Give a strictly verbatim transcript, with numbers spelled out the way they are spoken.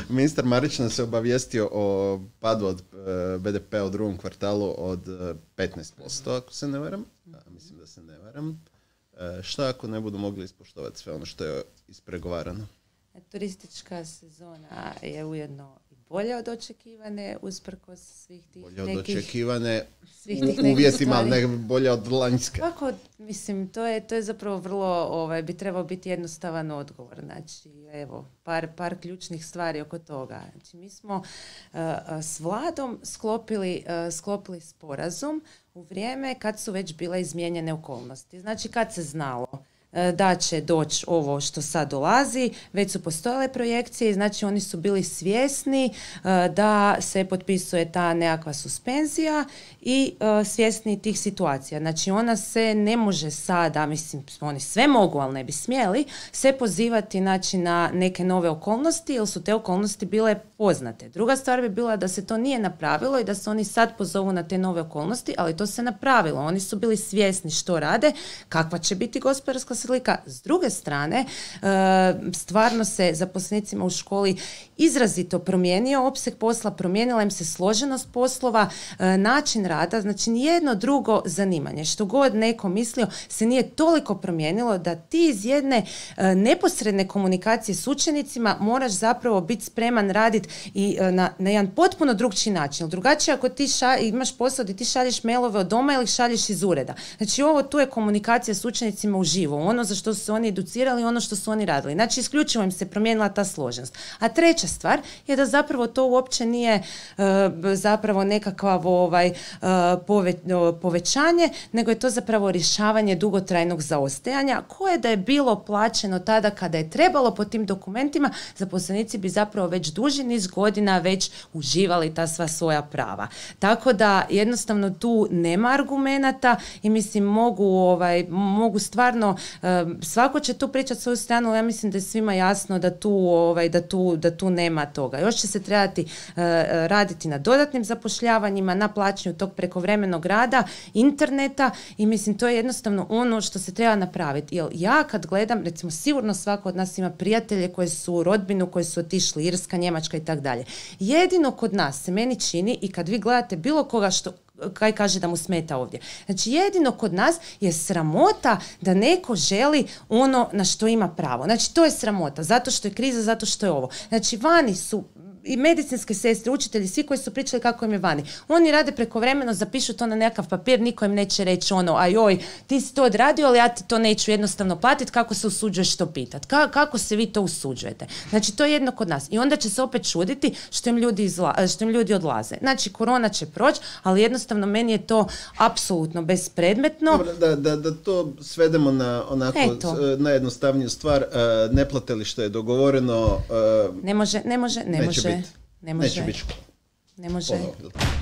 Ministar Marić nas se obavijestio o padu od uh, be de pe u drugom kvartalu od uh, petnaest posto, ako se ne varam. A, mislim da se ne varam. Uh, šta ako ne budu mogli ispoštovati sve ono što je ispregovarano? Turistička sezona je ujedno i bolja od očekivane, usprkos svih tih bolje od nekih... očekivane svih tih u uvjetima, ali ne bolje od lanjske. Kako, mislim, to je, to je zapravo vrlo, ovaj, bi trebao biti jednostavan odgovor. Znači, evo, par, par ključnih stvari oko toga. Znači, mi smo uh, s vladom sklopili, uh, sklopili sporazum u vrijeme kad su već bile izmijenjene okolnosti. Znači, kad se znalo da će doći ovo što sad dolazi, već su postojale projekcije, znači oni su bili svjesni uh, da se potpisuje ta nekakva suspenzija i uh, svjesni tih situacija. Znači ona se ne može sada, mislim, oni sve mogu, ali ne bi smjeli, se pozivati znači, na neke nove okolnosti, jer su te okolnosti bile poznate. Druga stvar bi bila da se to nije napravilo i da se oni sad pozovu na te nove okolnosti, ali to se napravilo. Oni su bili svjesni što rade, kakva će biti gospodarska slika. S druge strane, stvarno se zaposlenicima u školi izrazito promijenio opseg posla, promijenila im se složenost poslova, način rada, znači nijedno drugo zanimanje, što god neko mislio, se nije toliko promijenilo da ti iz jedne neposredne komunikacije s učenicima moraš zapravo biti spreman raditi i na, na jedan potpuno drugčiji način. Drugačije ako ti ša, imaš posao da ti šalješ mailove od doma ili šalješ iz ureda. Znači ovo tu je komunikacija s učenicima uživo, ono za što su se oni educirali, ono što su oni radili. Znači isključivo im se promijenila ta složenost. A treća stvar je da zapravo to uopće nije uh, zapravo nekakav ovaj, uh, pove, uh, povećanje, nego je to zapravo rješavanje dugotrajnog zaostajanja koje da je bilo plaćeno tada kada je trebalo po tim dokumentima, zaposlenici bi zapravo već duži niz godina već uživali ta sva svoja prava. Tako da jednostavno tu nema argumenata i mislim mogu, ovaj, mogu stvarno, uh, svako će tu pričati svoju stranu, ali ja mislim da je svima jasno da tu, ovaj, da tu, da tu nema toga. Još će se trebati uh, raditi na dodatnim zapošljavanjima, na plaćanju tog prekovremenog rada, interneta i mislim to je jednostavno ono što se treba napraviti. Jer ja kad gledam, recimo sigurno svako od nas ima prijatelje koji su u rodbinu, koji su otišli, Irska, Njemačka i tako dalje. Jedino kod nas se meni čini i kad vi gledate bilo koga što kaj kaže da mu smeta ovdje. Znači jedino kod nas je sramota da neko želi ono na što ima pravo. Znači to je sramota, zato što je kriza, zato što je ovo. Znači vani su i medicinske sestre, učitelji, svi koji su pričali kako im je vani. Oni rade prekovremeno, zapišu to na nekakav papir, niko im neće reći ono, aj oj, ti si to odradio, ali ja ti to neću jednostavno platiti, kako se usuđuješ to pitati? Ka- kako se vi to usuđujete? Znači, to je jedno kod nas. I onda će se opet čuditi što im ljudi, izla- što im ljudi odlaze. Znači, korona će proći, ali jednostavno meni je to apsolutno bespredmetno. Dobro, da, da, da to svedemo na onako najjednostavniju stvar. Uh, ne plate li što je dogovoreno? Uh, ne može, ne može, ne može. Biti. Ne može. Neće biti. Ne može. Ponovno.